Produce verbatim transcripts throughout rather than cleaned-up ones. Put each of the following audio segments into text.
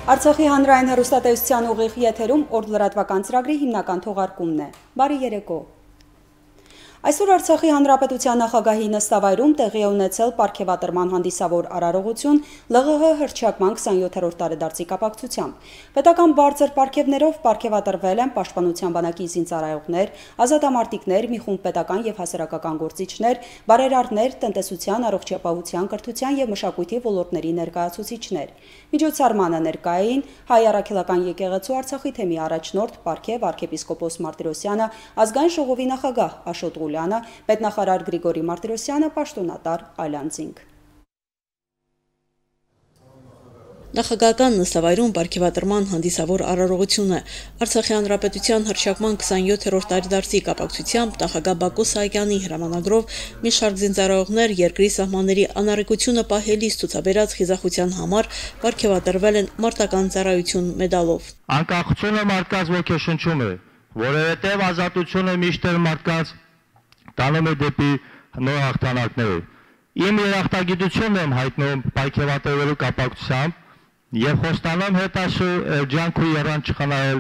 Արցախի հանրային հեռուստատեսության ուղիղ եթերում օր լրատվական ծրագրի հիմնական թողարկումն է։ Բարի երեկո։ Այսօր Արցախի Հանրապետության նախագահի նստավայրում տեղի է ունեցել պարգևատրման հանդիսավոր արարողություն Լ Ղ Հ հռչակման քսանյոթերորդ տարեդարձի կապակցությամբ։ Պետական բարձր պարգևներով պարգևատրվել են Պաշտպանության բանակի զինծառայողներ, ազատամարտիկներ, մի խումբ պետական եւ հասարակական գործիչներ, բարերարներ, տնտեսության, առողջապահության, կրթության եւ մշակույթի ոլորտների ներկայացուցիչներ։ Միջոցառմանը ներկա էին Հայ առաքելական եկեղեցու Արցախի թեմի առաջնորդ պարգև arczepiskopos Martirosyan-ը, ազգային ժողովի նախագահ Աշոտ Ղուլյանը, պետնախարար Գրիգորի Մարտիրոսյանը, պաշտոնատար Այլանդզինգ։ Նախագահական նստավայրում պարգևատրման հանդիսավոր արարողություն է Արցախի Հանրապետության հռչակման քսանյոթերորդ տարեդարձի կապակցությամբ նախագահ Բակո Սահակյանի հրամանագրով մի շարք զինծառայողներ երկրի սահմանների անառիկությունը պահելիս ցուցաբերած խիզախության համար պարգևատրվել են մարտական ծառայություն մեդալով։ Անկախությունը մարդկանց ոգեշնչում է, որովհետև ազատությունը միշտ էլ մարդկանց տանում է դեպի նոր հաղթանակներ։ Իմ երախտագիտությունն եմ հայտնում պարգևատրվելու կապակցությամբ եւ խոստանում հետաշուր ջանք ու երան չխնայել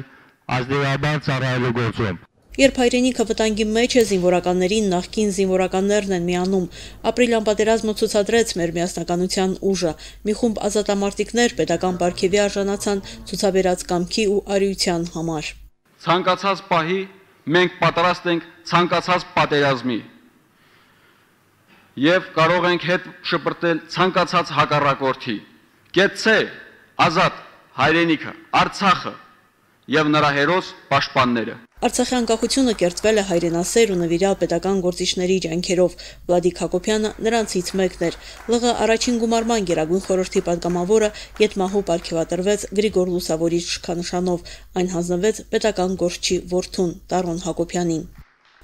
ազնիվաբար ծառայելու գործում։ Երբ հայրենիքը վտանգի մեջ է, զինվորականներին նախկին զինվորականներն են միանում։ Ապրիլյան պատերազմը ցուցադրեց մեր միասնականության ուժը։ Մի խումբ ազատամարտիկներ պետական պարգևի արժանացան ցուցաբերած կամքի ու արիության համար։ Ցանկացած պահի մենք պատրաստ ենք ցանկացած պատերազմի եւ կարող ենք հետ շպրտել ցանկացած հակառակորդի։ Կեցցե ազատ հայրենիքը, Արցախը եւ նրա հերոս պաշտպանները։ Արցախի անկախությունը կերտվել է հայրենասեր ու նվիրյալ պետական գործիչների ջանքերով։ Վլադիկ Հակոբյանը նրանցից մեկն էր։ Լ Ղ առաջին գումարման գերագույն խորհրդի պատգամավորը ետմահու պարգևատրվեց Գրիգոր Լուսավորիչ շքանշանով, այն հանձնվեց պետական գործչի որդուն Տարոն Հակոբյանին։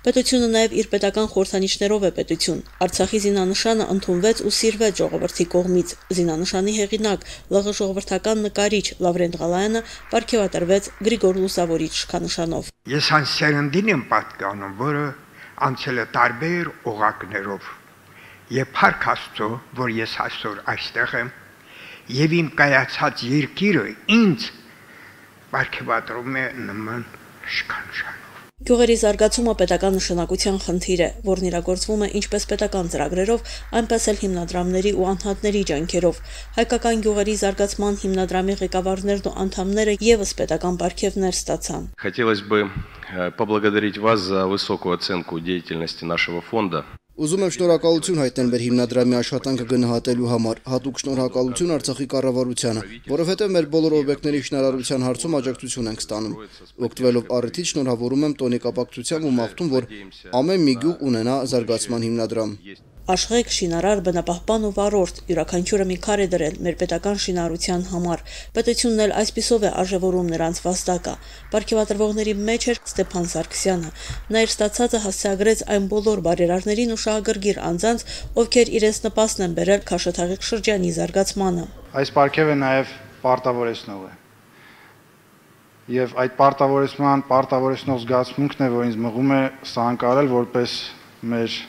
Պետությունը նաև իր պետական խորհրդանիշներով է պետություն։ Արցախի զինանշանը ընդունվեց ու սիրվեց ժողովրդի կողմից։ Զինանշանի հեղինակ Լ Ղ ժողովրդական նկարիչ Լավրենտ Ղալայանը պարգևատրվեց Գրիգոր Լուսավորիչ շքանշանով։ Ես այն սերնդին եմ պատկանում, որը անցել է տարբեր օղակներով։ Եվ փառք Աստծո, որ ես այսօր այստեղ եմ, եւ իմ կայացած երկիրը ինձ պարգևատրում է նման շքանշան։ Գյուղերի զարգացումը պետական նշանակության խնդիր է, որն իրագործվում է ինչպես պետական ծրագրերով, այնպես էլ հիմնադրամների ու անհատների ջանքերով։ Հայկական գյուղերի զարգացման հիմնադրամի ղեկավարներն ու անդամները եւս պետական պարգևներ ստացան։ Хотелось бы поблагодарить вас за высокую оценку деятельности нашего фонда. Ուզում եմ շնորհակալություն հայտնել մեր հիմնադրամի աշխատանքը գնահատելու համար, հատուկ շնորհակալություն Արցախի կառավարությանը, որովհետև մեր բոլոր օբյեկտների շինարարության հարցում աջակցություն ենք ստանում։ Օգտվելով առիթից շնորհավորում եմ տոնի կապակցությամբ ու մաղթում, որ ամեն մի գյուղ ունենա զարգացման հիմնադրամ։ Աշխեք, շինարար, բնապահպան ու վարորդ, յուրաքանչյուրը մի քար է դրել մեր պետական շինարարության համար։ Պետությունն էլ այսպիսով է արժևորում նրանց վաստակը։ Պարգևատրվողների մեջ էր Ստեփան Սարգսյանը։ Նա իր ստացածը հասցեագրեց այն բոլոր բարերարներին ու շահագրգիռ անձանց, ովքեր իրենց նպաստն են բերել Քաշաթաղի շրջանի զարգացմանը։ Այս պարգևը նաև պարտավորեցնող է։ Եվ այդ պարտավորեցման պարտավորեցնող զգացմունքն է, որ ինձ մղում է սա անցնել որպես մեր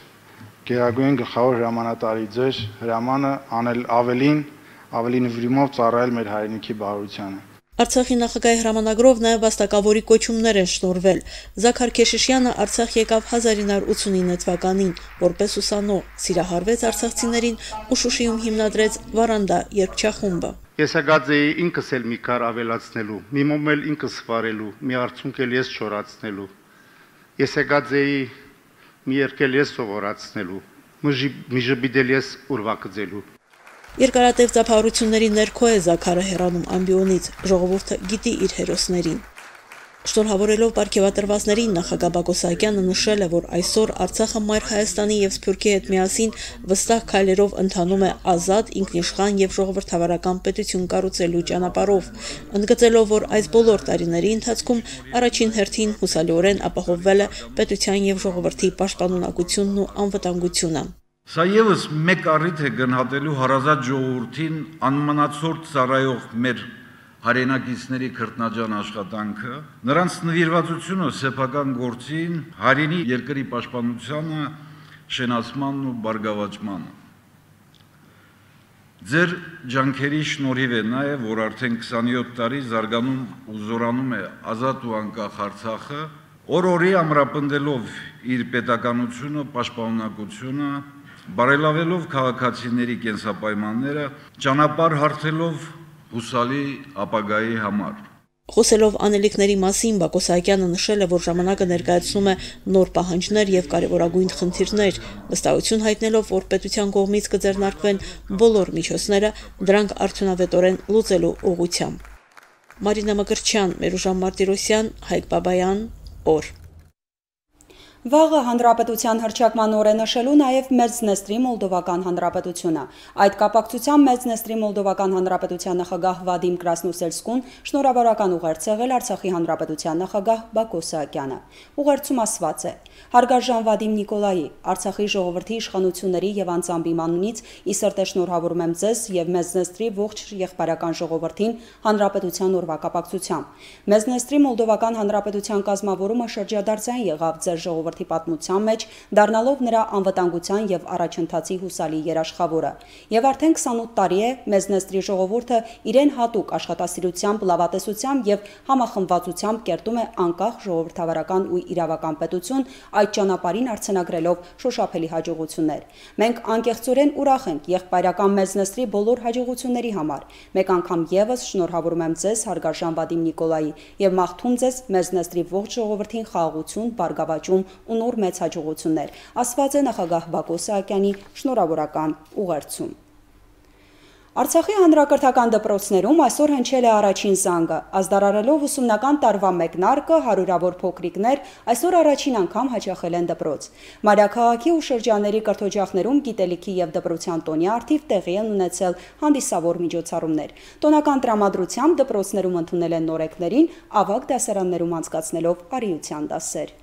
Գերագույն գլխավոր հրամանատարի ձեր հրամանը անել ավելին, ավելի նվիրումով ծառայել մեր հայրենիքի բարօրությանը։ Արցախի նախագահի հրամանագրով նաև վաստակավորի կոչումներ են շնորհվել։ Զաքար Քեշիշյանը Արցախ եկավ հազար ինը հարյուր ութսունինը թվականին, որպես ուսանող, սիրահարվեց արցախցիներին ու Շուշիում հիմնադրեց Վարանդա երգչախումբը։ Ես եկած էի ինքս էլ մի քար ավելացնելու, մի մոմ էլ ինքս վարելու, մի արցունք էլ ես չորացնելու։ Ես եկած էի մի երկել ես սովորացնելու, մի ժբիդել ես ուրվակձելու։ Երկարատև ծափահարությունների ներքո է Զաքարը հեռանում ամբիոնից, ժողովուրդը գիտի իր հերոսներին։ Շնորհավորելով պարգևատրվածներին նախագահ Բակո Սահակյանը նշել է, որ այսօր Արցախը մայր Հայաստանի եւ Սփյուռքի հետ միասին վստահ քայլերով ընթանում է ազատ, ինքնիշխան եւ ժողովրդավարական պետություն կառուցելու ճանապարհով, ընդգծելով, որ այս բոլոր տարիների ընթացքում առաջին հերթին հուսալիորեն ապահովվել է պետության եւ ժողովրդի պաշտպանունակությունն ու անվտանգությունը։ Սա եւս մեկ առիթ է գնահատելու հարազատ ժողովրդին անմնացորդ ծառայող մեր հայրենակիցների քրտնաջան աշխատանքը, նրանց նվիրվածությունը սեփական գործին, հայրենի երկրի պաշտպանությանը, շենացմանն ու բարգավաճմանը։ Ձեր ջանքերի շնորհիվ է նաև, որ արդեն քսանյոթ տարի զարգանում ու զորանում է ազատ ու անկախ Արցախը, օր-օրի ամրապնդելով իր պետականությունը, պաշտպանունակությունը, բարելավելով քաղաքացիների կենսապայմանները, ճանապարհ հարթելով հուսալի ապագայի համար։ Խոսելով անելիքների մասին Բակո Սահակյանը նշել է, որ ժամանակը ներկայացնում է նոր պահանջներ եւ կարեւորագույն խնդիրներ, վստահություն հայտնելով, որ պետության կողմից կձեռնարկվեն բոլոր միջոցները դրանք արդյունավետորեն լուծելու ուղղությամբ։ Մարինա Մկրտչյան, Մերուժան Մարտիրոսյան, Հայկ Բաբայան, օր Վաղը Հանրապետության հռչակման օր է նշելու նաև Մեծնեստրի Մոլդովական Հանրապետությունը։ Այդ կապակցությամբ Մեծնեստրի Մոլդովական Հանրապետության նախագահ Վադիմ Կրասնոսելսկուն շնորհավորական ուղերձ եղել Արցախի Հանրապետության նախագահ Բակո Սահակյանը։ Ուղերձում ասված է. Հարգարժան Վադիմ Նիկոլայի, Արցախի ժողովրդի իշխանությունների եւ անձամբ իմ անունից ի սրտե շնորհավորում եմ ձեզ եւ Մեծնեստրի ողջ եղբայրական ժողովրդին Հանրապետության օրվա կապակցությամբ։ Մեծնեստրի Մոլդովական Հանրապետության կազմավորումը շրջադարձային եղավ ձեր ժողովրդի պատմության մեջ, դառնալով նրա անվտանգության եւ առաջընթացի հուսալի երաշխավորը։ Եվ արդեն քսանութ տարի է Մեծնեստրի ժողովուրդը իրեն հատուկ աշխատասիրությամբ, լավատեսությամբ եւ համախմբվածությամբ կերտում է անկախ ժողովրդավարական ու իրավական պետություն, այդ ճանապարհին արձանագրելով շոշափելի հաջողություններ։ Մենք անկեղծորեն ուրախ ենք եղբայրական Մեծնեստրի բոլոր հաջողությունների համար։ Մեկ անգամ եւս շնորհավորում եմ ձեզ, հարգարժան Վադիմ Նիկոլայի, եւ մաղթում ձեզ Մեծնեստրի ողջ ժողովրդին խաղաղություն, բարգավաճում ու նոր մեծ հաջողություններ, ասված է նախագահ Բակո Սահակյանի շնորհավորական ուղերձում։ Արցախի հանրակրթական դպրոցներում այսօր հնչել է առաջին զանգը, ազդարարելով ուսումնական տարվա մեկնարկը հարյուրավոր փոքրիկներ այսօր առաջին անգամ հաճախել են դպրոց։ Մայրաքաղաքի ու շրջանների կրթօջախներում գիտելիքի եւ դպրոցյան տոնի առթիվ տեղի են ունեցել հանդիսավոր միջոցառումներ։ Տոնական տրամադրությամբ դպրոցներում ընդունել են նորեկներին, ավագ դասարաններում անցկացնելով արիության դասեր։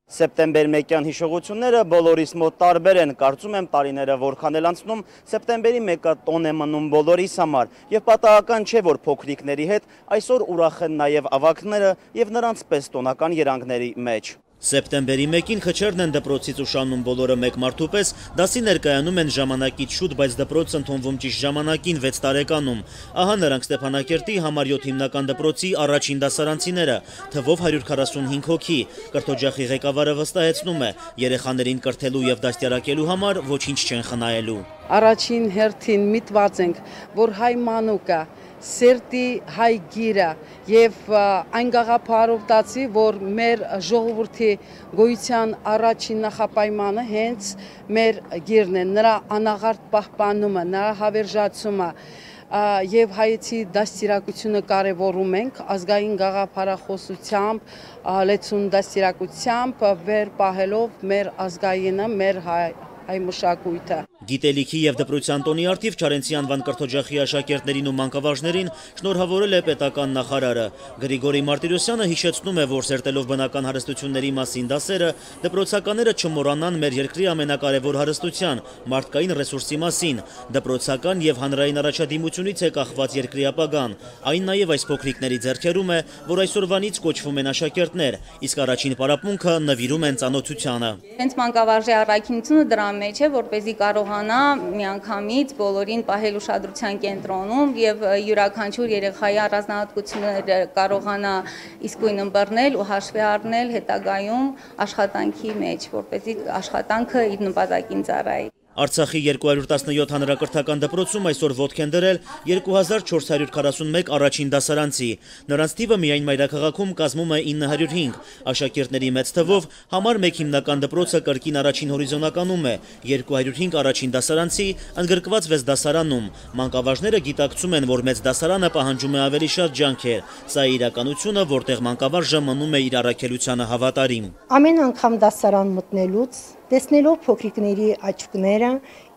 Սեպտեմբեր մեկյան հիշողությունները բոլորիս մոտ տարբեր են, կարծում եմ տարիները որքան էլ անցնում, սեպտեմբերի մեկը տոն է մնում բոլորիս համար, եւ պատահական չէ, որ փոքրիկների հետ այսօր ուրախ են նաեւ ավագները եւ նրանց պես տոնական երանգների մեջ։ Սեպտեմբերի մեկին խչերն են դպրոցից ուշանում բոլորը մեկ մարդու պես, դասի ներկայանում են ժամանակից շուտ, բայց դպրոցը ընդունվում ճիշտ ժամանակին վեց տարեկանում։ Ահա նրանք Ստեփանակերտի համար յոթ հիմնական դպրոցի առաջին դասարանցիները, թվով հարյուր քառասունհինգ հոգի։ Կրթօջախի ղեկավարը վստահեցնում է, երեխաներին կրթելու եւ դաստիարակելու համար ոչինչ չեն խնայելու։ Առաջին հերթին միտված ենք, որ հայ մանուկը սերտի հայ գիրը եւ այն գաղափարով տածի, որ մեր ժողովրդի գոյության առաջին նախապայմանը հենց մեր գիրն է, նրա անաղարտ պահպանումը, նրա հավերժացումը եւ հայեցի դաստիարակությունը կարևորում ենք ազգային գաղափարախոսությամբ, լեցուն դաստիարակությամբ վեր պահելով մեր ազգայինը, մեր հայ այ մշակույթը։ Գիտելիքի եւ դպրոցյան տոնի արդիվ Չարենցի անվան կրթօջախի աշակերտներին ու մանկավարժներին շնորհավորել է պետական նախարարը։ Գրիգորի Մարտիրոսյանը հիշեցնում է, որ սերտելով բնական հարստությունների մասին դասերը, դպրոցականները չմոռանան մեր երկրի ամենակարևոր հարստության՝ մարդկային ռեսուրսի մասին։ Դպրոցական եւ հանրային առաջադիմությունից է կախված երկրի ապագան։ Այն նաեւ այս փոքրիկների ձեռքերում է, որ այսօրվանից կոչվում են աշակերտներ, իսկ առաջին պարապմունքը նվիրում են ծանոթությանը։ Հենց մանկավարժի առաքինությունը դրա մեջ է, որպեսզի կարողանա միանգամից բոլորին պահել ուշադրության կենտրոնում եւ յուրաքանչյուր երեխայի առանձնահատկությունները կարողանա իսկույն ըմբռնել ու հաշվի առնել հետագայում աշխատանքի մեջ, որպեսզի աշխատանքը իր նպատակին ծառայի։ Արցախի երկու հարյուր տասնյոթ հանրակրթական դպրոցում այսօր ոտք են դրել երկու հազար չորս հարյուր քառասունմեկ առաջին դասարանցի։ Նրանց թիվը միայն մայրաքաղաքում կազմում է ինը հարյուր հինգ։ Աշակերտների մեծ թվով համար մեկ հիմնական դպրոցը կրկին առաջին հորիզոնականում է, երկու հարյուր հինգ առաջին դասարանցի ընդգրկված վեց դասարանում։ Մանկավարժները գիտակցում են, որ մեծ դասարանը պահանջում է ավելի շատ ջանքեր։ Սա է իրականությունը, որտեղ մանկավարժը մնում է իր առաքելությանը հավատարիմ։ Ամեն անգամ դասարան մտնելուց տեսնելով փոքրիկների աչքները,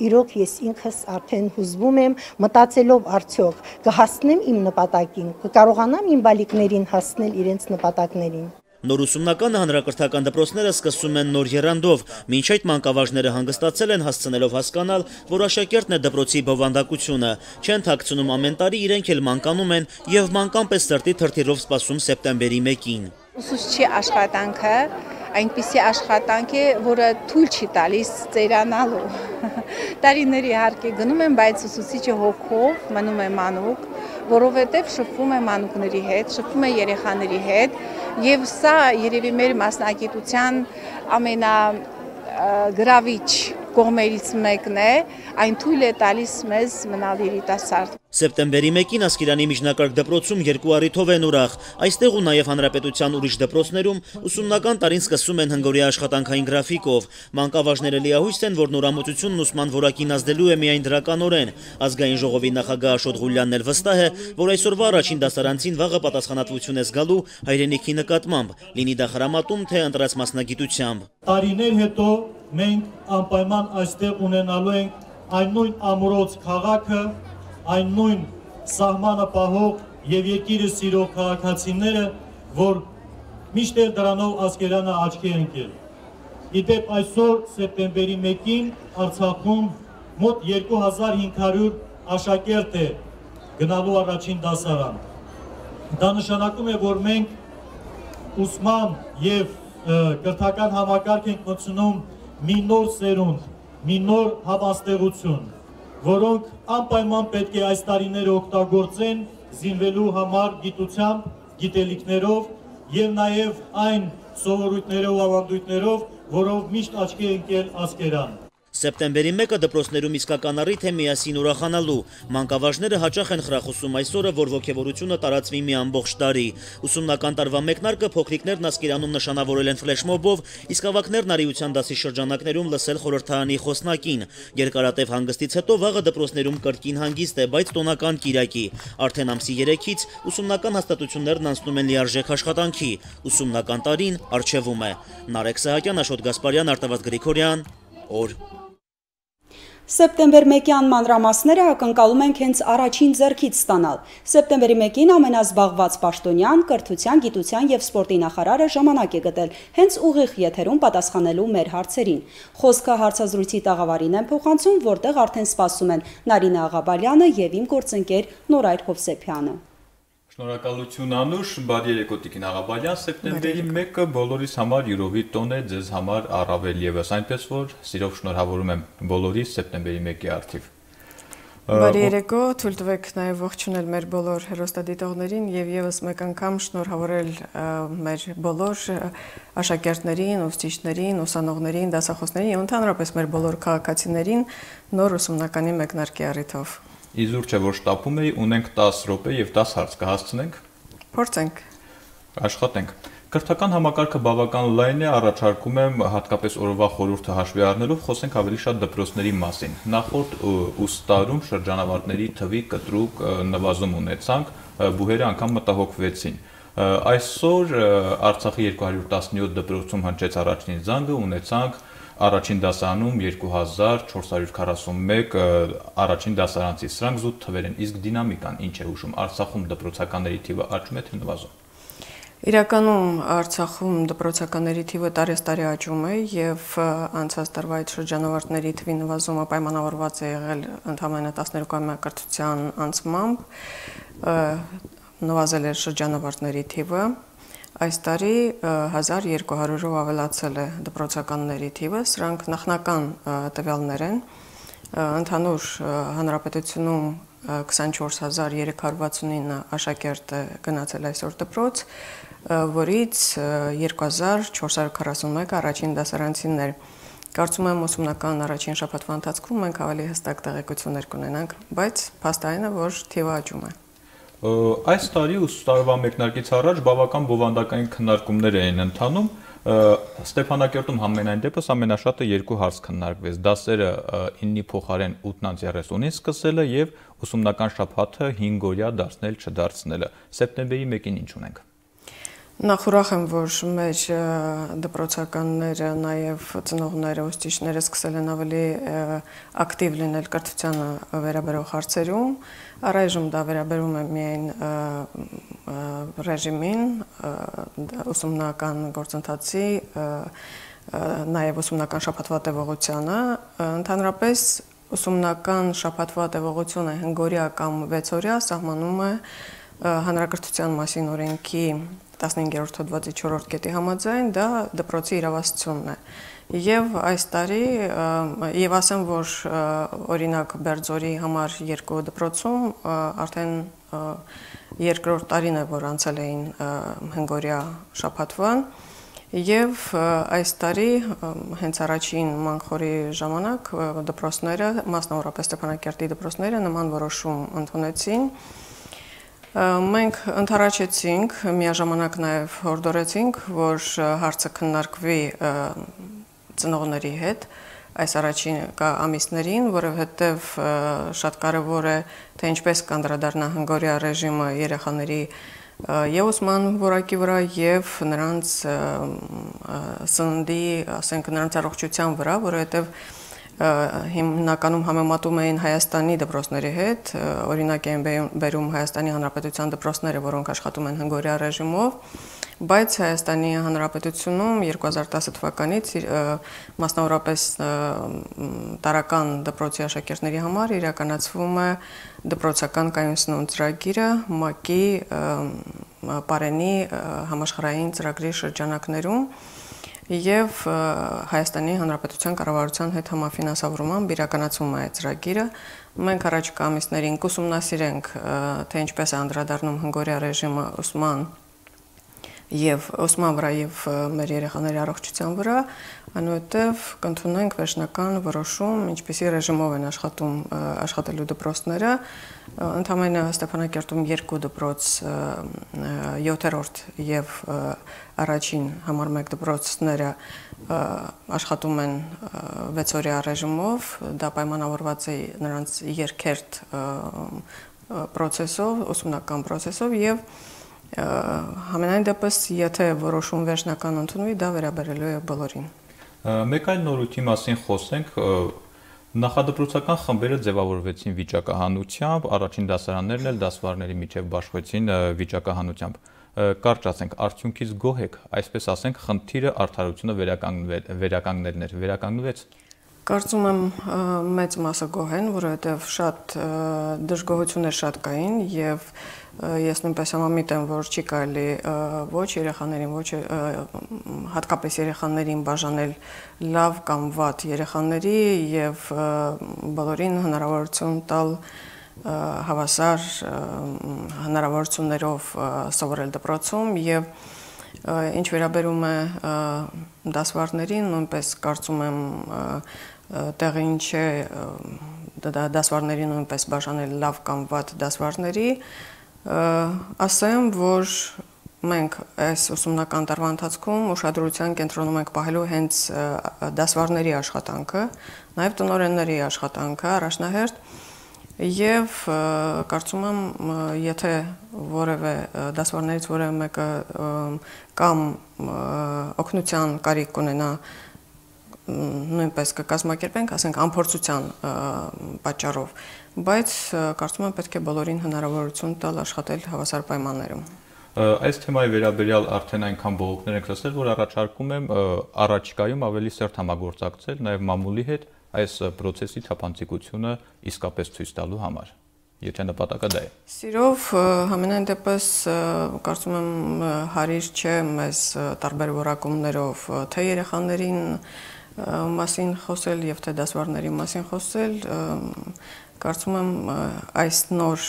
իրոք ես ինքս արդեն հուզվում եմ, մտածելով արդյոք կհասնեմ իմ նպատակին, կկարողանամ իմ բալիկներին հասնել իրենց նպատակներին։ Նոր ուսումնական հանրակրթական դպրոցները սկսում են նոր եռանդով, մինչ այդ մանկավարժները հանգստացել են հասցնելով հասկանալ, որ աշակերտն է դպրոցի բովանդակությունը, չեն թաքցնում ամեն տարի իրենք էլ մանկանում են եւ մանկան պես սրտի թրթիրով սպասում սեպտեմբերի մեկին։ Ուսուցչի աշխատանքը այնպիսի աշխատանք է, որը թույլ չի տալիս ծերանալու։ տարիների իհարկե գնում եմ, բայց ուսուցիչը հոգով մնում է մանուկ, որովհետև շփվում է մանուկների հետ, շփվում է երեխաների հետ, եւ սա երևի մեր մասնագիտության ամենագրավիչ կողմերից մեկն է, այն թույլ է տալիս մեզ մնալ երիտասարդ։ Սեպտեմբերի մեկին Ասկերանի միջնակարգ դպրոցում երկու առիթով են ուրախ։ Այստեղ ու նաև հանրապետության ուրիշ դպրոցներում ուսումնական տարին սկսում են հնգօրյա աշխատանքային գրաֆիկով։ Մանկավարժները լիահույս են, որ նորամուծությունն ուսման որակին ազդելու է միայն դրականորեն։ Ազգային ժողովի նախագահ Աշոտ Ղուլյանն էլ վստահ է, որ այսօրվա առաջին դասարանցին վաղը պատասխանատվություն է զգալու հայրենիքի նկատմամբ, լինի դա խրամատում, թե ընտրած մասնագիտությամբ։ Տարիներ հետո մենք անպայման այստեղ ունենալու ենք այն նույն ամրոց քաղաքը, այն նույն սահմանը պահող եւ երկիրը սիրող քաղաքացիները, որ միշտ դրանով Ասկերանը աչքի է ընկել։ Իդեպ այսօր սեպտեմբերի մեկին Արցախում մոտ երկու հազար հինգ հարյուր աշակերտ է գնալու առաջին դասարան։ Դա նշանակում է, որ մենք ուսման եւ կրթական համակարգ ենք մտցնում մի նոր սերունդ, մի նոր հավաստեղություն, որոնք անպայման պետք է այս տարիները օգտագործեն զինվելու համար գիտությամբ, գիտելիքներով եւ նաեւ այն սովորույթներով ու ավանդույթներով, որով միշտ աչքի է ընկել Ասկերան։ Սեպտեմբերի մեկը դպրոցներում իսկական առիթ է միասին ուրախանալու։ Մանկավարժները հաճախ են խրախուսում այս օրը, որ ոգևորությունը տարածվի մի ամբողջ տարի։ Ուսումնական տարվա մեկնարկը փոքրիկներն Ասկերանում նշանավորել են ֆլեշմոբով, իսկ ավագներն արիության դասի շրջանակներում լսել խորհրդարանի խոսնակին։ Երկարատև հանգստից հետո վաղը դպրոցներում կրկին հանգիստ է, բայց տոնական կիրակի։ Արդեն ամսի երեքից ուսումնական հաստատություններն անցնում են լիարժեք աշխատանքի։ Ուսումնական տարին առջևում է։ Նարեկ Սահակյան, Աշոտ Գասպարյան, Արտավազդ Գրիգորյան, օր։ Սեպտեմբեր մեկյան մանրամասները ակնկալում ենք հենց առաջին ձեռքից ստանալ։ Սեպտեմբերի մեկին ամենազբաղված պաշտոնյան, կրթության, գիտության եւ սպորտի նախարարը ժամանակ է գտել հենց ուղիղ եթերում պատասխանելու մեր հարցերին։ Խոսքը հարցազրույցի տաղավարին են փոխանցում, որտեղ արդեն սպասում են Նարինե Աղաբալյանը եւ իմ գործընկեր Նորայր Հովսեփյանը։ Շնորհակալություն Անուշ, բարի երեկո Տիկին Աղաբալյան, սեպտեմբերի մեկը բոլորիս համար յուրովի տոն է, ձեզ համար առավել եւս, այնպես որ սիրով շնորհավորում եմ բոլորիս սեպտեմբերի մեկի առթիվ։ Բարի երեկո, թույլ տվեք նաեւ ողջունել մեր բոլոր հեռուստադիտողներին եւ եւս մեկ անգամ շնորհավորել մեր բոլոր աշակերտներին, ուսուցիչներին, ուսանողներին, դասախոսներին եւ ընդհանրապես մեր բոլոր քաղաքացիներին նոր ուսումնականի մեկնարկի առիթով։ Իզուր չէ, որ շտապում էի, ունենք տասը րոպե եւ տասը հարց կհասցնենք։ Փորձենք։ Աշխատենք։ Կրթական համակարգը բավական լայն է, առաջարկում եմ հատկապես օրվա խորհուրդը հաշվի առնելով խոսենք ավելի շատ դպրոցների մասին։ Նախորդ ուստարում շրջանավարտների թվի կտրուկ նվազում ունեցանք, բուհերը անգամ մտահոգվեցին։ Այսօր Արցախի երկու հարյուր տասնյոթ դպրոցում հնչեց առաջին զանգը, ունեցանք առաջին դասարանում երկու հազար չորս հարյուր քառասունմեկ առաջին դասարանցի, սրանք զուտ թվեր են, իսկ դինամիկան ինչ է հուշում, Արցախում դպրոցականների թիվը աճում է թե նվազում։ Իրականում Արցախում դպրոցականների թիվը տարեստարի աճում է եւ անցած տարվա այդ շրջանավարտների թվի նվազումը պայմանավորված է եղել ընդամենը տասներկուամյա կրթության անցմամբ, նվազել է շրջանավարտների թիվը։ Այս տարի հազար երկու հարյուրով ավելացել է դպրոցականների թիվը, սրանք նախնական տվյալներ են, ընդհանուր հանրապետությունում քսանչորս հազար երեք հարյուր վաթսունինը աշակերտ է գնացել այսօր դպրոց, որից երկու հազար չորս հարյուր քառասունմեկ առաջին դասարանցիներ։ Կարծում եմ ուսումնական առաջին շաբաթվա ընթացքում մենք ավելի հստակ տեղեկություններ կունենանք, բայց փաստային է, որ թիվը աճում է։ Այս տարի ուսուցարվա մեկնարկից առաջ բավական բովանդակային քննարկումներ էին ընթանում, Ստեփանակերտում համենայն դեպս ամենաշատը երկու հարց քննարկվեց, դասերը իննի փոխարեն ութն երեսունին սկսելը եւ ուսումնական շաբաթը հինգ օրյա դարձնել չդարձնելը։ Սեպտեմբերի մեկին ինչ ունենք։ Նախ ուրախ եմ, որ մեր դպրոցականները, նաև ծնողները, ուսուցիչները սկսել են ավելի ակտիվ լինել կրթությանը վերաբերող հարցերում։ Առայժմ դա վերաբերում է միայն ռեժիմին, ուսումնական գործընթացի, նաև ուսումնական շաբաթվա տևողությանը։ Ընդհանրապես ուսումնական շաբաթվա տևողությունը հինգ օրյա կամ վեց օրյա սահմանում է հանրակրթության մասին օրենքի տասնհինգերորդ հոդվածի չորրորդ կետի համաձայն դա դպրոցի իրավասությունն է։ Եվ այս տարի եւ ասեմ, որ օրինակ Բերձորի համար երկու դպրոցում արդեն երկրորդ տարին է, որ անցել էին հնգօրյա շաբաթվան, եւ այս տարի հենց առաջին մանխորի ժամանակ դպրոցները, մասնավորապես Ստեփանակերտի դպրոցները նման որոշում ընդունեցին։ Մենք ընդառաջեցինք, միաժամանակ նաև հորդորեցինք, որ հարցը քննարկվի ծնողների հետ այս առաջին ամիսներին, որովհետև շատ կարևոր է, թե ինչպես կանդրադառնա հնգօրյա ռեժիմը երեխաների եւ ուսման որակի վրա եւ նրանց սննդի, ասենք նրանց առողջության վրա, որովհետև հիմնականում համեմատում էին Հայաստանի դպրոցների հետ, օրինակ են բերում Հայաստանի Հանրապետության դպրոցները, որոնք աշխատում են հնգօրյա ռեժիմով, բայց Հայաստանի Հանրապետությունում երկու հազար տասը թվականից մասնավորապես տարական դպրոցի աշակերտների համար իրականացվում է դպրոցական կայուն սնունդ ծրագիրը ՄԱԿ-ի Պարենի համաշխարհային ծրագրի շրջանակներում եւ Հայաստանի Հանրապետության կառավարության հետ համաֆինանսավորմամբ իրականացվում է այդ ծրագիրը։ Մենք առաջիկա ամիսներին կուսումնասիրենք, թե ինչպես է անդրադառնում հնգօրյա ռեժիմը ուսման եւ ուսման վրա եւ մեր երեխաների առողջության վրա, այնուհետեւ կընդունենք վերջնական որոշում, ինչպիսի ռեժիմով են աշխատում աշխատելու դպրոցները։ Ընդամենը Ստեփանակերտում երկու դպրոց, յոթերորդ եւ առաջին համար մեկ դպրոցները աշխատում են վեցօրյա ռեժիմով, դա պայմանավորված է նրանց երկերտ պրոցեսով, ուսումնական պրոցեսով եւ համենայն դեպս, եթե որոշում վերջնական ընդունվի, դա վերաբերելու է բոլորին։ Մեկ այլ նորույթի մասին խոսենք, նախադպրոցական խմբերը ձևավորվեցին վիճակահանությամբ, առաջին դասարաններն էլ դասվարների միջև բաշխվեցին վիճակահանությամբ։ Կարճ ասենք, արդյունքից գոհ եք, այսպես ասենք, խնդիրը արդարությունը վերականգնելն էր, վերականգնվեց։ Կարծում եմ մեծ մասը գոհ են, որովհետև շատ դժգոհություններ շատ կային եւ ես նույնպես համամիտ եմ, որ չի կարելի ոչ երեխաներին, ոչ հատկապես երեխաներին բաժանել լավ կամ վատ երեխաների եւ բոլորին հնարավորություն տալ հավասար հնարավորություններով սովորել դպրոցում եւ ինչ վերաբերում է դասվարներին, նույնպես կարծում եմ տեղին չէ դասվարների նույնպես բաժանել լավ կամ վատ դասվարների, ասեմ, որ մենք այս ուսումնական տարվա ընթացքում ուշադրության կենտրոնում ենք պահելու հենց դասվարների աշխատանքը, նաև տնօրենների աշխատանքը առաջնահերթ եւ կարծում եմ, եթե որևէ դասվարներից որևէ մեկը կամ օգնության կարիք կունենա, նույնպես կկազմակերպենք, ասենք անփորձության պատճառով, բայց կարծում եմ պետք է բոլորին հնարավորություն տալ աշխատել հավասար պայմաններում։ Այս թեմայի վերաբերյալ արդեն այնքան բողոքներ ենք լսել, որ առաջարկում եմ առաջիկայում ավելի սերտ համագործակցել նաև մամուլի հետ այս process-ի թափանցիկությունը իսկապես ցույց տալու համար, եթե նպատակը դա է։ Սիրով, համենայն դեպս կարծում եմ հարիր չէ մեզ տարբեր որակումներով թե երեխաներին մասին խոսել եւ թե դասվարների մասին խոսել, կարծում եմ այս նոր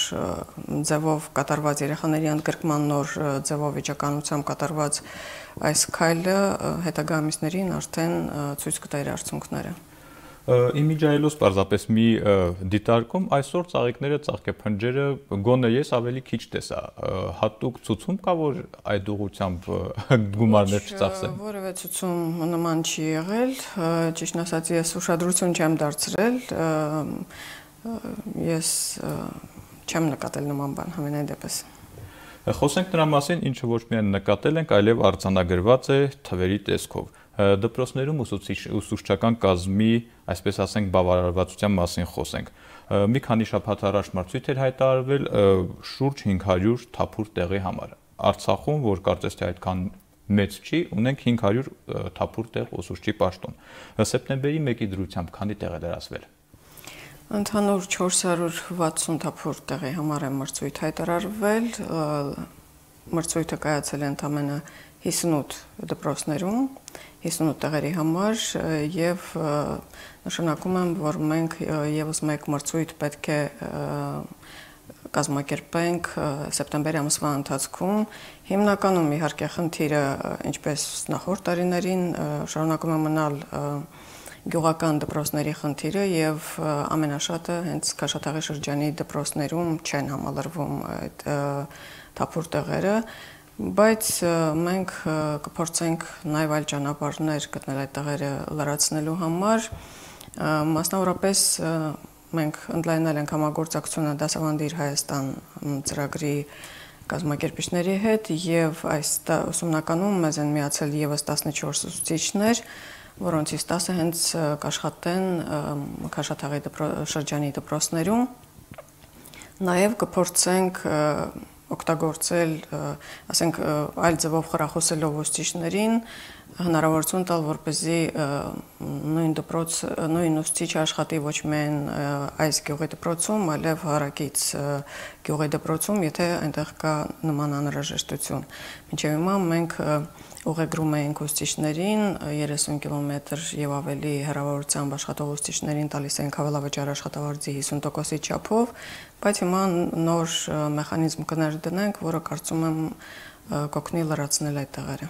ձևով կատարված երեխաների ընդգրկման նոր ձևով վիճականությամբ կատարված այս քայլը հետագա ամիսներին արդեն ցույց կտա իր արդյունքները։ Իմիջայելոց պարզապես մի դիտարկում այսօր ծաղիկները, ծաղկեփնջերը գոնե ես ավելի քիչ տեսա, հատուկ ցուցում կա, որ այդ ուղղությամբ գումարներ չծախսեն։ Որևէ ցուցում նման չի եղել, ճիշտն ասած ես ուշադրություն չեմ դարձրել, ես չեմ նկատել նման բան համենայն դեպս։ Խոսենք նրա մասին, ինչը ոչ միայն նկատել ենք, այլև արձանագրված է թվերի տեսքով։ Դպրոցներում ուսուցչական կազմի, այսպես ասենք, բավարարվածության մասին խոսենք։ Մի քանի շաբաթ առաջ մրցույթ էր հայտարարվել շուրջ հինգ հարյուր թափուր տեղի համար։ Արցախում, որ կարծես թե այդքան մեծ չի, ունենք հինգ հարյուր թափուր տեղ ուսուցչի պաշտոն։ Սեպտեմբերի մեկի դրությամբ քանի տեղ է լրացվել։ Ընդհանուր չորս հարյուր վաթսուն թափուր տեղի համար է մրցույթ հայտարարվել, մրցույթը կայացել է ընդամենը հիսունութ դպրոցներում, հիսունութ տեղերի համար եւ նշանակում եմ, որ մենք եւս մեկ մրցույթ պետք է կազմակերպենք սեպտեմբերի ամսվա ընթացքում։ Հիմնականում իհարկե խնդիրը, ինչպես նախորդ տարիներին, շարունակում է մնալ գյուղական դպրոցների խնդիրը եւ ամենաշատը հենց Քաշաթաղի շրջանի դպրոցներում չեն համալրվում այդ թափուր տեղերը, բայց մենք կփորձենք նաեւ այլ ճանապարհներ գտնել այդ տեղերը լրացնելու համար, մասնավորապես մենք ընդլայնել ենք համագործակցությունը Դասավանդիր Հայաստան ծրագրի կազմակերպիչների հետ եւ այս ուսումնականում մեզ են միացել եւս տասնչորս ուսուցիչներ, որոնցից տասը հենց կաշխատեն Քաշաթաղի շրջանի դպրոցներում։ Նաև կփորձենք օգտագործել, ասենք, այլ ձևով խրախուսելով ուսուցիչներին, հնարավորություն տալ, որպեսզի նույն դպրոց, նույն ուսուցիչը աշխատի ոչ միայն այս գյուղի դպրոցում, այլև հարակից գյուղի դպրոցում, եթե այնտեղ կա նման անհրաժեշտություն։ Մինչև հիմա մենք ուղեգրում էինք ուսուցիչներին, երեսուն կիլոմետր եւ ավելի հեռավորությամբ աշխատող ուսուցիչներին տալիս ենք հավելավճար աշխատավարձի հիսուն տոկոսի չափով, բայց հիմա նոր մեխանիզմ կներդնենք, որը կարծում եմ կօգնի լրացնել այդ տեղերը։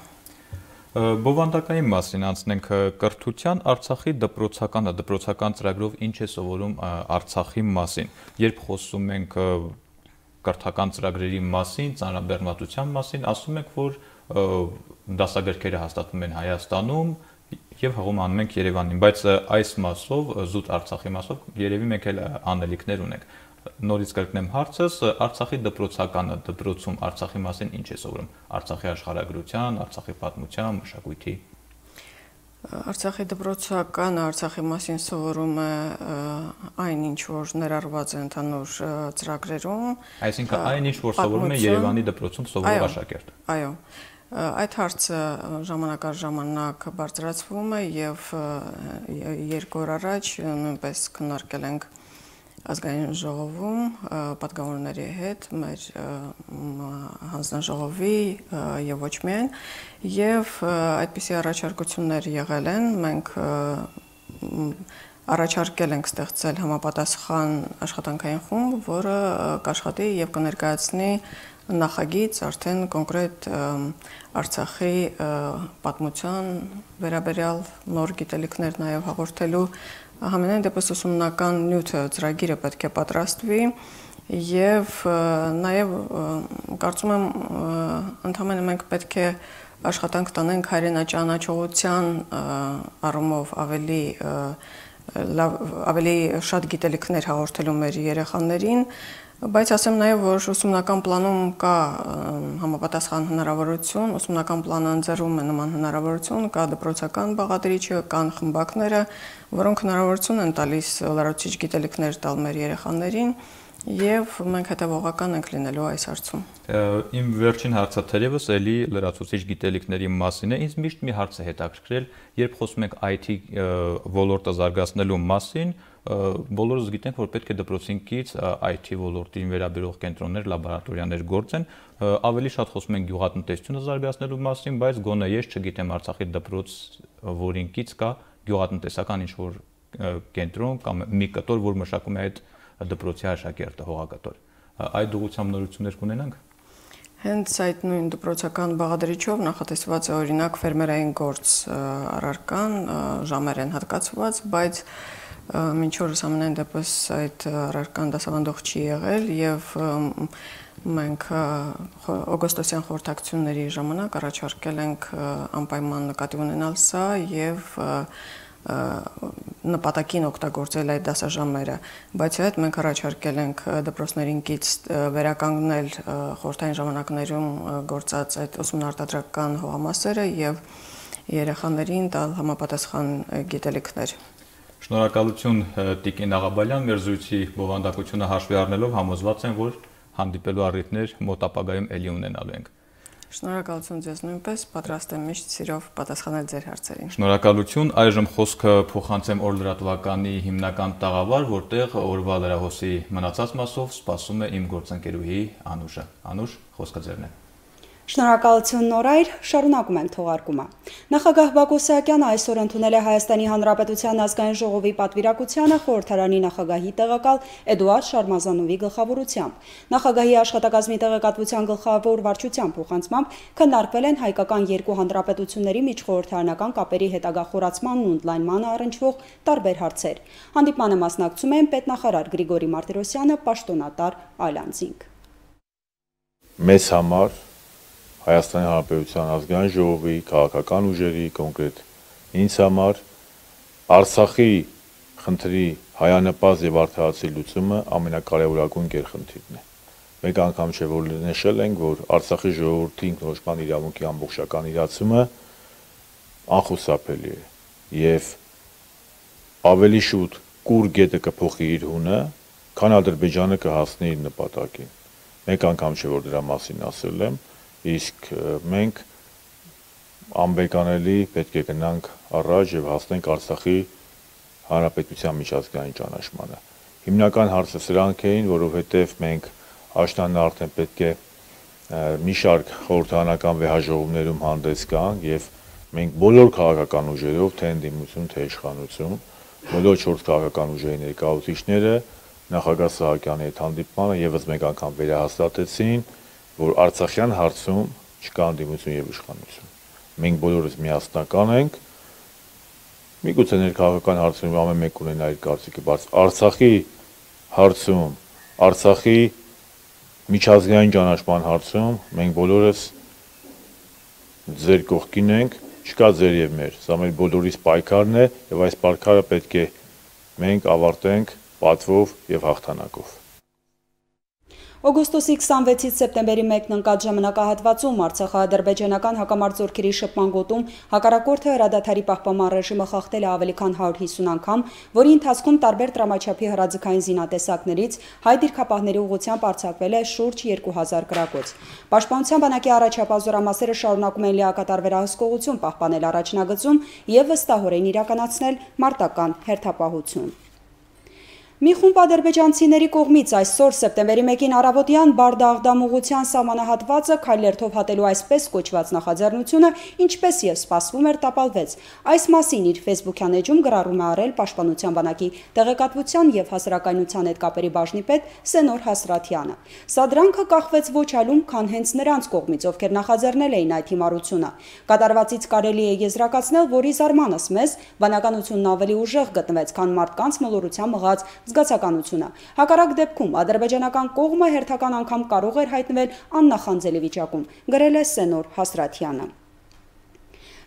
Բովանդակային մասին անցնենք կրթության, Արցախի դպրոցական, դպրոցական ծրագրով ինչ է սովորում Արցախի մասին։ Երբ խոսում ենք կրթական ծրագրերի մասին, ծանրաբեռնվածության մասին, ասում ենք, որ դասագրքերը հաստատվում են Հայաստանում եւ հղում անում ենք Երևանին, բայց այս մասով, զուտ Արցախի մասով, երևի մենք էլ անելիքներ ունենք։ Նորից կրկնեմ հարցս, Արցախի դպրոցականը, դպրոցում Արցախի մասին ինչ է սովորում։ Արցախի աշխարհագրության, Արցախի պատմության, մշակույթի։ Արցախի դպրոցականը Արցախի մասին սովորում է այն ինչ որ ներառված է ընդհանուր ծրագրերում։ Այսինքն այն ինչ որ սովորում է Երևանի դպրոցում սովորող աշակերտը։ Այո։ Այդ հարցը ժամանակ առ ժամանակ բարձրացվում է եւ երկու օր առաջ նույնպես քննարկել ենք ազգային ժողովում պատգամավորների հետ, մեր հանձնաժողովի եւ ոչ միայն, եւ այդպիսի առաջարկություններ եղել են, մենք առաջարկել ենք ստեղծել համապատասխան աշխատանքային խումբ, որը կաշխատի եւ կներկայացնի նախագիծ արդեն կոնկրետ Արցախի պատմության վերաբերյալ նոր գիտելիքներ նաեւ հաղորդելու Համենայն դեպս ուսումնական նյութը ծրագիրը պետք է պատրաստվի եւ նաեւ կարծում եմ ընդհանրապես մենք պետք է աշխատանք տանենք հայրենաճանաչողության առումով ավելի ավելի շատ գիտելիքներ հաղորդելու մեր երեխաներին, բայց ասեմ նաեւ, որ ուսումնական պլանում կա համապատասխան հնարավորություն, ուսումնական պլանը ընձեռում է նման հնարավորություն, կա դպրոցական բաղադրիչը, կան խմբակները, որոնք հնարավորություն են տալիս լրացուցիչ գիտելիքներ տալ մեր երեխաներին եւ մենք հետեւողական ենք լինելու այս հարցում։ Իմ վերջին հարցը թերևս էլի լրացուցիչ գիտելիքների մասին է, ինձ միշտ մի հարց է հետաքրքրել, երբ խոսում ենք I T ոլորտը զարգացնելու մասին, բոլորս գիտենք, որ պետք է դպրոցինքից I T ոլորտին վերաբերող կենտրոններ, լաբորատորիաներ գործեն, ավելի շատ խոսում են գյուղատնտեսությունը զարգացնելու մասին, բայց գոնե ես չգիտեմ Արցախի դպրոց, որինքից կա գյուղատնտեսական ինչ-որ կենտրոն կամ մի կտոր, որ մշակում է այդ դպրոցի աշակերտը, հողակտոր։ Այդ ուղղությամբ նորություններ կունենանք։ Հենց այդ նույն դպրոցական բաղադրիչով նախատեսված է օրինակ ֆերմերային գործ առարկան, ժամեր են հատկացված, բայց մինչ օրս ամենայն դեպս այդ առարկան դասավանդող չի եղել եւ մենք օգոստոսյան խորհրդակցությունների ժամանակ առաջարկել ենք անպայման նկատի ունենալ սա եւ նպատակին օգտագործել այդ դասաժամերը, բայց այդ մենք առաջարկել ենք դպրոցներին կից վերականգնել խորհրդային ժամանակներում գործած այդ ուսումնարտադրական հողամասերը եւ երեխաներին տալ համապատասխան գիտելիքներ։ Շնորհակալություն Տիկին Աղաբալյան, մեր զրույցի բովանդակությունը հաշվի առնելով համոզված եմ, որ հանդիպելու առիթներ մոտ ապագայում էլի ունենալու ենք։ Շնորհակալություն ձեզ նույնպես, պատրաստ եմ միշտ սիրով պատասխանել ձեր հարցերին։ Շնորհակալություն, այժմ խոսքը փոխանցեմ օր լրատվականի հիմնական տաղավար, որտեղ օրվա լրահոսի մնացած մասով սպասում է իմ գործընկերուհի Անուշը։ Անուշ, խոսքը ձերն է։ Շնորհակալություն Նորայր, շարունակում ենք թողարկումը։ Նախագահ Բակո Սահակյանը այսօր ընդունել է Հայաստանի Հանրապետության ազգային ժողովի պատվիրակությանը խորհրդարանի նախագահի տեղակալ Էդուարդ Շարմազանովի գլխավորությամբ։ Նախագահի աշխատակազմի տեղեկատվության գլխավոր վարչության փոխանցմամբ քննարկվել են հայկական երկու հանրապետությունների միջխորհրդարանական կապերի հետագա խորացմանն ու ընդլայնմանը առնչվող տարբեր հարցեր։ Հանդիպմանը մասնակցում են պետնախարար Գրիգորի Մարտիրոսյանը, պաշտոնատար այլ անձինք։ Մեզ համար Հայաստանի Հանրապետության ազգային ժողովի, քաղաքական ուժերի, կոնկրետ ինձ համար Արցախի խնդրի հայանպաստ եւ արդարացի լուծումը ամենակարևորագույն գերխնդիրն է։ Մեկ անգամ չէ որ նշել ենք, որ Արցախի ժողովրդի ինքնորոշման իրավունքի ամբողջական իրացումը անխուսափելի է եւ ավելի շուտ կուր գետը կփոխի իր հունը, քան Ադրբեջանը կհասնի իր նպատակին։ Մեկ անգամ չէ որ դրա մասին ասել եմ, իսկ մենք անբեկանելի պետք է գնանք առաջ եւ հասնենք Արցախի հանրապետության միջազգային ճանաչմանը։ Հիմնական հարցը սրանք էին, որովհետեւ մենք աշնանը արդեն պետք է մի շարք խորհրդարանական վեհաժողովներում հանդես գանք եւ մենք բոլոր քաղաքական ուժերով, թե ընդդիմություն, թե իշխանություն, բոլոր չորս քաղաքական ուժերի ներկայացուցիչները նախագահ Սահակյանի հետ հանդիպմանը եւս մեկ անգամ վերահաստատեցին, որ Արցախյան հարցում չկա ընդդիմություն եւ իշխանություն։ Մենք բոլորս միասնական ենք, միգուցե ներքաղաքական հարցերում ամեն մեկ ունենա իր կարծիքը, բայց Արցախի հարցում, Արցախի միջազգային ճանաչման հարցում մենք բոլորս ձեր կողքին ենք, չկա ձեր եւ մեր, սա մեր բոլորիս պայքարն է եւ այս պայքարը պետք է մենք ավարտենք պատվով եւ հաղթանակով։ Օգոստոսի քսանվեցից սեպտեմբերի մեկն ընկած ժամանակահատվածում արցախա-ադրբեջանական հակամարտությունների շփման գոտում հակառակորդը հրադադարի պահպանման ռեժիմը խախտել է ավելի քան հարյուր հիսուն անգամ, որի ընթացքում տարբեր տրամաչափի հրաձգային զինատեսակներից հայ դիրքապահների ուղղությամբ արձակվել է շուրջ երկու հազար գրակոց։ Պաշտպանության բանակի առաջապահ զորամասերը շարունակում են լիակատար վերահսկողություն պահպանել առաջնագծում եւ վստահորեն իրականացնել մարտական հերթապահություն։ Մի խումբ ադրբեջանցիների կողմից այսօր սեպտեմբերի մեկին առավոտյան Բարդա-Աղդամ ուղղության սահմանահատվածը քայլերթով հատելու այսպես կոչված նախաձեռնությունը, ինչպես եւ սպասվում էր, տապալվեց։ Այս մասին իր Facebook-յան էջում գրառում է արել Պաշտպանության բանակի տեղեկատվության եւ հասարակայնության հետ կապերի բաժնի պետ Սենոր Հասրաթյանը։ Սա դրանքը կախվեց ոչ այլում, քան հենց նրանց կողմից, ովքեր նախաձեռնել էին այդ հիմարությունը։ Կատարվածից կարելի է եզրակացնել, որ ի զարմանս մեզ բանականությունն ավելի ուժեղ գտնվեց, քան մարդկանց մոլորության մղած զգացականությունը։ Հակառակ դեպքում ադրբեջանական կողմը հերթական անգամ կարող էր հայտնվել աննախանձելի վիճակում, գրել է Սենոր Հասրաթյանը։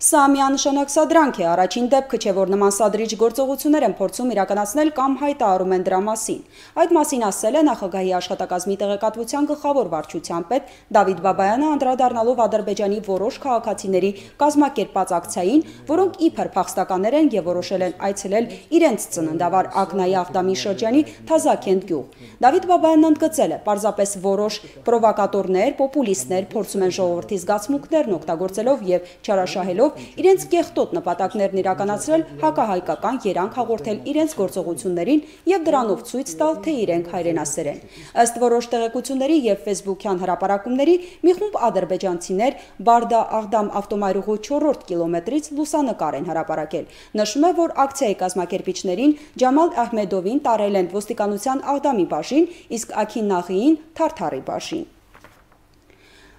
Սա միանշանակ սադրանք է, առաջին դեպքը չէ, որ նման սադրիչ գործողություններ են փորձում իրականացնել կամ հայտարարում են դրա մասին։ Այդ մասին ասել է նախագահի աշխատակազմի տեղեկատվության գլխավոր վարչության պետ Դավիթ Բաբայանը, անդրադառնալով Ադրբեջանի որոշ քաղաքացիների կազմակերպած ակցիային, որոնք իբր փախստականներ են եւ որոշել են այցելել իրենց ծննդավար Ակնայի Աղդամի շրջանի Թազաքենտ գյուղ։ Դավիթ Բաբայանն ընդգծել է, պարզապես որոշ պրովոկատորներ, պոպուլիստներ փորձում են ժողովրդի զգացմունքներն օգտագործելով եւ չարաշահելով իրենց կեղտոտ նպատակներն իրականացրել հակահայկական երանգ հաղորդել իրենց գործողություններին եւ դրանով ցույց տալ, թե իրենք հայրենասեր են։ Ըստ որոշ տեղեկությունների եւ Facebook-յան հրապարակումների մի խումբ ադրբեջանցիներ Բարդա-Աղդամ ավտոմայրուղու չորրորդ կիլոմետրից լուսանկար են հրապարակել։ Նշում է, որ ակցիայի կազմակերպիչներին Ջամալ Ահմեդովին տարել են ոստիկանության Աղդամի բաժին, իսկ Աքին Նաղիին Թարթարի բաժին։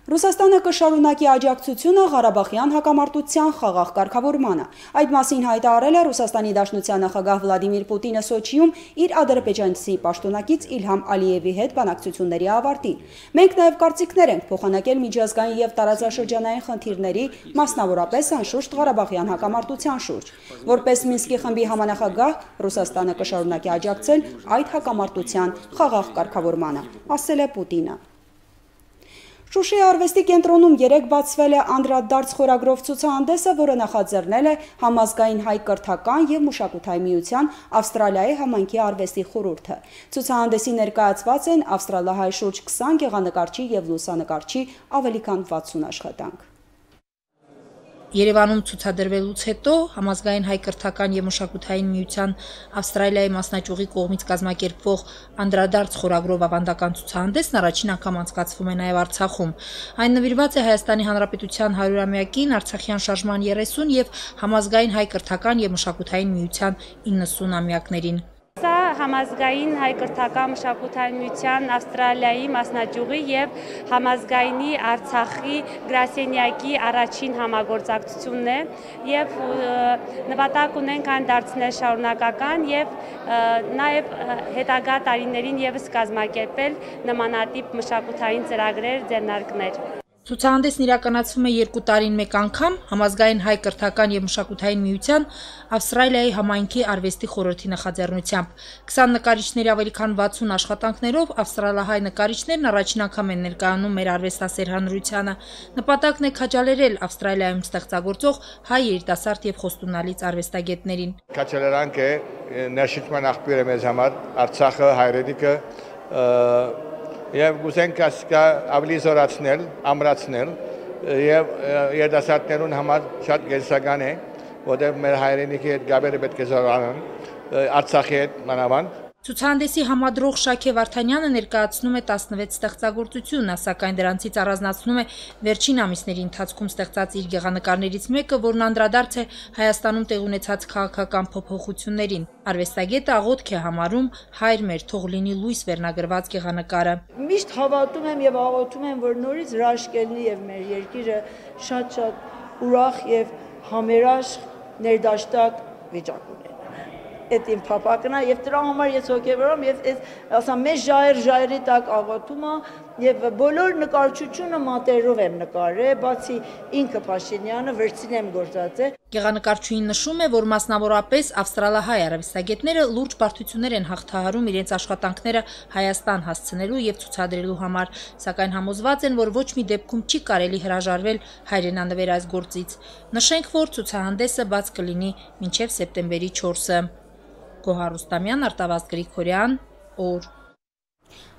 Ռուսաստանը կշարունակի աջակցությունը Ղարաբաղյան հակամարտության խաղաղ կարգավորմանը։ Այդ մասին հայտարարել է Ռուսաստանի Դաշնության նախագահ Վլադիմիր Պուտինը Սոչիում իր ադրբեջանցի պաշտոնակից Իլհամ Ալիևի հետ բանակցությունների ավարտին։ Մենք նաև կարծիքներ ենք փոխանակել միջազգային եւ տարածաշրջանային խնդիրների, մասնավորապես անշուշտ Ղարաբաղյան հակամարտության շուրջ։ Որպես Մինսկի խմբի համանախագահ Ռուսաստանը կշարունակի աջակցել այդ հակամարտության խաղաղ կարգավորմանը, ասել է Պուտինը։ Շուշիի արվեստի կենտրոնում երեկ բացվել է անդրադարձ խորագրով ցուցահանդեսը, որը նախաձեռնել է Համազգային հայ կրթական և մշակութային միության Ավստրալիայի համայնքի արվեստի խորհուրդը։ Ցուցահանդեսին ներկայացված են ավստրալահայ շուրջ քսան գեղանկարչի և լուսանկարչի ավելի քան վաթսուն աշխատանք։ Երևանում ցուցադրվելուց հետո Համազգային հայ կրթական և մշակութային միության Ավստրալիայի մասնաճյուղի կողմից կազմակերպվող անդրադարձ խորագրով ավանդական ցուցահանդեսն առաջին անգամ անցկացվում է նաև Արցախում։ Այն նվիրված է Հայաստանի Հանրապետության հարյուրամյակին, Արցախյան շարժման երեսուն և Համազգային հայ կրթական և մշակութային միության իննսուն-ամյակներին։ Սա Համազգային հայ կրթական մշակութային միության Ավստրալիայի մասնաճյուղի և Համազգայինի Արցախի գրասենյակի առաջին համագործակցությունն է և նպատակ ունենք այն դարձնել շարունակական և նաև հետագա տարիներին ևս կազմակերպել նմանատիպ մշակութային ծրագրեր, ձեռնարկներ։ Ցուցահանդեսն իրականացվում է երկու տարին մեկ անգամ Համազգային հայ կրթական և մշակութային միության Ավստրալիայի համայնքի արվեստի խորհրդի նախաձեռնությամբ։ քսան նկարիչների ավելի քան վաթսուն աշխատանքներով ավստրալահայ նկարիչներն առաջին անգամ են ներկայանում մեր արվեստասեր հանրությանը։ Նպատակն է քաջալերել Ավստրալիայում ստեղծագործող հայ երիտասարդ և խոստումնալից արվեստագետներին։ Քաջալերանք է ներշնչման աղբյուր է մեզ համար, Արցախը, հայրենիքը Եվ գուզենք ասկա ավելի զորացնել, ամրացնել և երդասարտներուն համար շատ գերսական է, որտեղ մեր հայրենիքի հետ գաբերը պետք է զորանան, Արցախի հետ մանավանդ։ Ցուցահանդեսի համադրող Շաքե Վարդանյանը ներկայացնում է տասնվեց ստեղծագործություն, սակայն դրանցից առանձնացնում է վերջին ամիսների ընթացքում ստեղծած իր գեղանկարներից մեկը, որն անդրադարձ է Հայաստանում տեղի ունեցած քաղաքական փոփոխություններին։ Արվեստագետը աղոթք է համարում «Հայր մեր, թող լինի լույս» վերնագրված գեղանկարը։ Միշտ հավատում եմ եւ աղոթում եմ, որ նորից հրաշք լինի եւ մեր երկիրը շատ-շատ ուրախ եւ համերաշխ ներդաշտակ վիճակ ունենա։ Այդ իմ փափակն է եւ դրա համար ես հոգեվորում եւ այս ասամ մեծ ժայր ժայռի տակ աղոթում եւ բոլոր նկարչությունը մատերով եմ նկարել, բացի ինքը Փաշինյանը վերցինեմ գործածել։ Գեղանկարչուհին նշում է, որ մասնավորապես ավստրալահայ արվեստագետները լուրջ բարդություններ են հաղթահարում իրենց աշխատանքները Հայաստան հասցնելու եւ ցուցադրելու համար, սակայն համոզված են, որ ոչ մի դեպքում չի կարելի հրաժարվել հայրենանվեր այս գործից։ Նշենք, որ ցուցահանդեսը բաց կլինի մինչեւ սեպտեմբերի չորսը։ Գոհար Ռուստամյան, Արտավազդ Գրիգորյան, օր։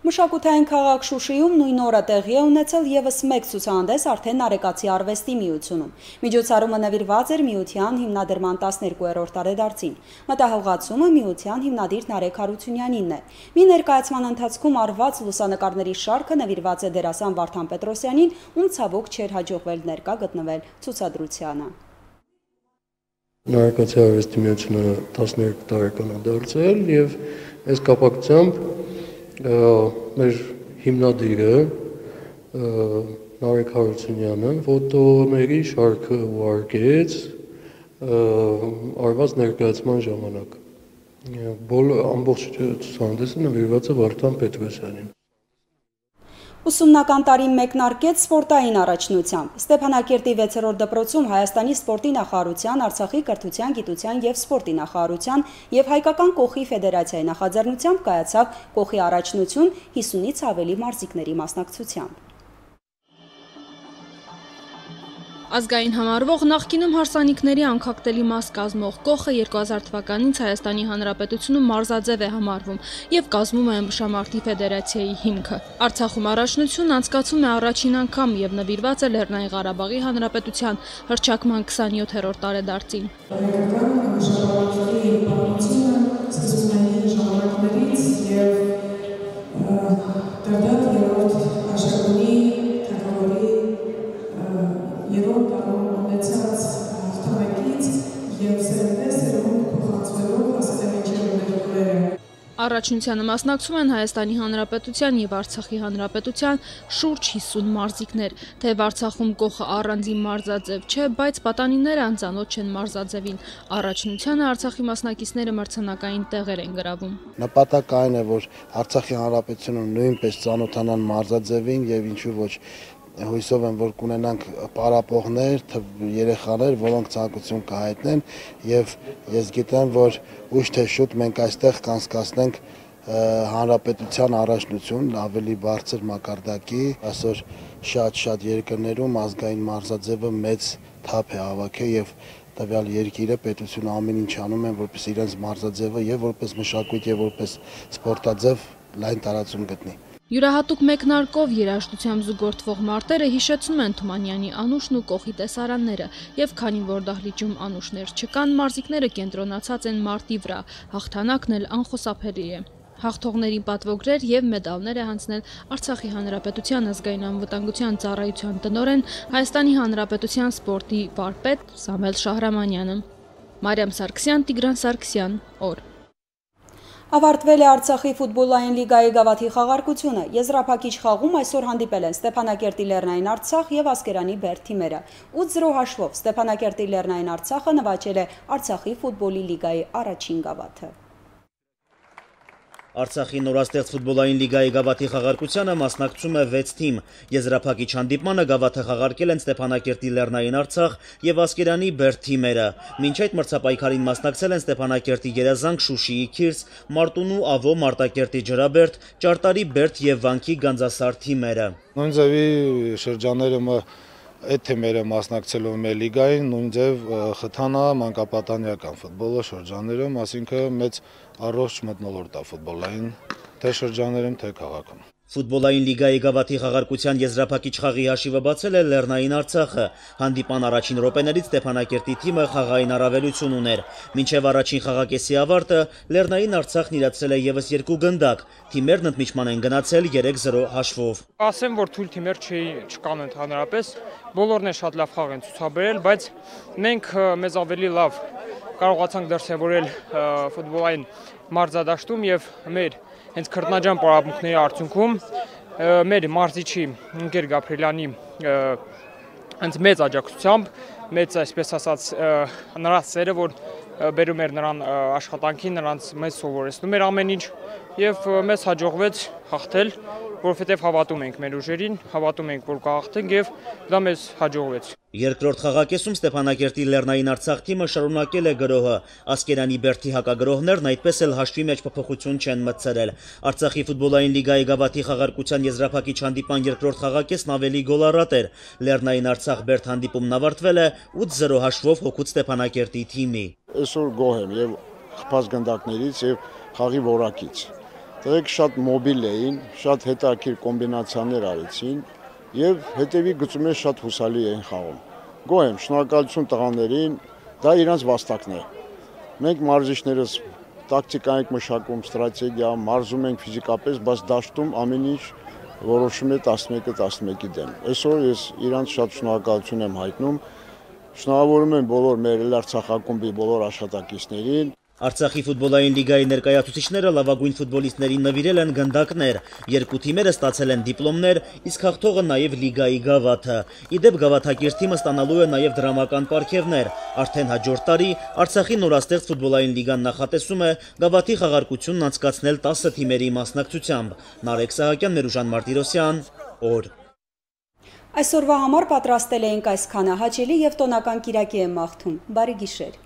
Մշակութային քաղաք Շուշիում նույն օրը տեղի է ունեցել ևս մեկ ցուցահանդես արդեն Արեգացի արվեստի միությունում։ Միջոցառումը նվիրված էր միության հիմնադրման տասներկուերորդ տարեդարձին։ Մտահոգացումը միության հիմնադիր Նարեկ Հարությունյանինն է։ Մի ներկայացման ընթացքում արված լուսանկարների շարքը նվիրված է դերասան Վարդան Պետրոսյանին, ում ցավոք չէր հաջողվել ներկա գտնվել ցուցադրությանը։ Արեգացի արվեստի միությունը տասներկու տարեկան է դարձել եւ այս կապակցությամբ մեր հիմնադիրը Նարեկ Հարությունյանը ֆոտոների շարքը ուղարկեց արված ներկայացման ժամանակ։ Բոլոր ամբողջ ցուցահանդեսը նվիրված է Վարդան Պետրոսյանին։ Ուսումնական տարին մեկնարկեց սպորտային առաջնությամբ։ Ստեփանակերտի վեցերորդ դպրոցում Հայաստանի սպորտի նախարարության, Արցախի կրթության, գիտության և սպորտի նախարարության և Հայկական կոխի ֆեդերացիայի նախաձեռնությամբ կայացավ կոխի առաջնություն հիսունից ավելի մարզիկների մասնակցությամբ։ Ազգային համարվող նախկինում հարսանիքների անկախտելի մաս կազմող կոխը երկու հազար թվականից Հայաստանի Հանրապետությունում մարզաձև է համարվում և կազմում է ըմբշամարտի ֆեդերացիայի հիմքը։ Արցախում առաջնությունն անցկացվում է առաջին անգամ և նվիրված է Լեռնային Ղարաբաղի Հանրապետության հռչակման քսանյոթերորդ տարեդարձին։ Առաջնությանը մասնակցում են Հայաստանի Հանրապետության և Արցախի Հանրապետության շուրջ հիսուն մարզիկներ, թեև Արցախում կոխը առանձին մարզաձև չէ, բայց պատանիները անծանոթ չեն մարզաձևին։ Առաջնությանը Արցախի մասնակիցները մրցանակային տեղեր են գրավում։ Նպատակը այն է, որ Արցախի Հանրապետությունում նույնպես ծանոթանան մարզաձևին եւ ինչու ոչ հույսով եմ, որ կունենանք պարապողներ, երեխաներ, որոնք ցանկություն կհայտնեն եւ ես գիտեմ, որ ուշ թե շուտ մենք այստեղ կանցկացնենք հանրապետության առաջնություն ավելի բարձր մակարդակի, այսօր շատ-շատ երկրներում ազգային մարզաձևը մեծ թափ է հավաքել եւ տվյալ երկիրը պետությունը ամեն ինչ անում են, որպես իրենց մարզաձևը եւ որպես մշակույթ եւ որպես սպորտաձև լայն տարածում գտնի։ Յուրահատուկ մեկնարկով երաժշտությամբ զուգորդվող մարտերը հիշեցնում են Թումանյանի անուշն ու կողի տեսարանները եւ քանի որ դահլիճում անուշներ չկան, մարզիկները կենտրոնացած են մարտի վրա, հաղթանակն էլ անխուսափելի է։ Հաղթողներին պատվոգրեր եւ մեդալներ է հանձնել Արցախի Հանրապետության ազգային անվտանգության ծառայության տնօրեն Հայաստանի Հանրապետության սպորտի վարպետ Սամվել Շահրամանյանը։ Մարիամ Սարգսյան, Տիգրան Սարգսյան, օր։ Ավարտվել է Արցախի ֆուտբոլային լիգայի գավաթի խաղարկությունը։ Եզրափակիչ խաղում այսօր հանդիպել են Ստեփանակերտի Լեռնային Արցախ եւ Ասկերանի Բերդ թիմերը։ ութ զրո հաշվով Ստեփանակերտի Լեռնային Արցախը նվաճել է Արցախի ֆուտբոլի լիգայի առաջին գավաթը։ Արցախի նորաստեղծ ֆուտբոլային լիգայի գավաթի խաղարկությանը մասնակցում է վեց թիմ։ Եզրափակիչ հանդիպմանը գավաթը խաղարկել են Ստեփանակերտի Լեռնային Արցախ եւ Ասկերանի Բերդ թիմերը։ Մինչ այդ մրցապայքարին մասնակցել են Ստեփանակերտի Գերազանք, Շուշիի Քիրս, Մարտունու Ավո, Մարտակերտի Ջրաբերդ, Ճարտարի Բերդ եւ Վանքի Գանձասար թիմերը։ Նույն ձևի շրջանները այդ թիմերը մասնակցելով մեր լիգային, նույն ձև խթանա մանկապատանյական ֆուտբոլը շրջաններում, այսինքն մեծ առողջ մթնոլորտ է ֆուտբոլային թե շրջաններում, թե քաղաքում։ Ֆուտբոլային լիգայի գավաթի խաղարկության եզրափակիչ խաղի հաշիվը բացել է Լեռնային Արցախը։ Հանդիպան առաջին րոպեներից Ստեփանակերտի թիմը խաղային առավելություն ուներ։ Մինչև առաջին խաղակեսի ավարտը Լեռնային Արցախն իրացրել է եւս երկու գնդակ։ Թիմերն ընդմիջման են գնացել երեք զրո հաշվով։ Ասեմ, որ թույլ թիմեր չկան ընդհանրապես, բոլորն են շատ լավ խաղ են ցուցաբերել, բայց մենք մեզ ավելի լավ կարողացանք դրսևորել ֆուտբոլային մարզադաշտում եւ մեր հենց քրտնաջան պարապմունքների արդյունքում մեր մարզիչի Ընկեր Գաբրելյանի հենց մեծ աջակցությամբ, մեծ այսպես ասած նրա սերը, որ բերում էր նրան աշխատանքին, նրանց մեզ սովորեցնում էր ամեն ինչ եւ մեզ հաջողվեց հաղթել, որովհետեւ հավատում ենք մեր ուժերին, հավատում ենք, որ կհաղթենք եւ դա մեզ հաջողվեց։ Երկրորդ խաղակեսում Ստեփանակերտի Լեռնային Արցախ թիմը շարունակել է գրոհը։ Ասկերանի Բերդի հակագրոհներն այդպես էլ հաշվի մեջ փոփոխություն չեն մտցրել։ Արցախի ֆուտբոլային լիգայի գավաթի խաղարկության եզրափակիչ հանդիպան երկրորդ խաղակեսն ավելի գոլառատ էր։ Լեռնային Արցախ Բերդ հանդիպումն ավարտվել է ութ զրո հաշվով հօգուտ Ստեփանակերտի թիմի։ Այսօր գոհ եմ եւ խփած գնդակներից եւ խաղի որակից։ Դրանք շատ մոբիլ էին, շատ հետաքրքիր կոմբինացիաներ արեցին եւ հետեւի գծում է շատ հուսալի էին խաղում։ Գոհ եմ, շնորհակալություն տղաներին, դա իրանց վաստակն է։ Մենք մարզիչներս տակտիկա ենք մշակում, ստրատեգիա, մարզում ենք ֆիզիկապես, բայց դաշտում ամեն ինչ որոշում է տասնմեկը տասնմեկի դեմ։ Այսօր ես իրանց շատ շնորհակալություն եմ հայտնում։ Շնորհավորում եմ բոլոր մեր Արցախակումբի բոլոր աշխատակիցներին։ Արցախի ֆուտբոլային լիգայի ներկայացուցիչները լավագույն ֆուտբոլիստներին նվիրել են գնդակներ։ Երկու թիմերը ստացել են դիպլոմներ, իսկ հաղթողը նաև լիգայի գավաթը։ Իդեպ գավաթակիր թիմը ստանալու է նաև դրամական պարգևներ։ Արդեն հաջորդ տարի Արցախի նորաստեղծ ֆուտբոլային լիգան նախատեսում է գավաթի խաղարկությունն անցկացնել տասը թիմերի մասնակցությամբ։ Նարեկ Սահակյան, Ներուժան Մարտիրոսյան, օր։ Այսօրվա համար պատրաստել էինք այսքանը, հաճելի եւ տոնական կիրակի եմ մաղթում։ Բարի գիշեր։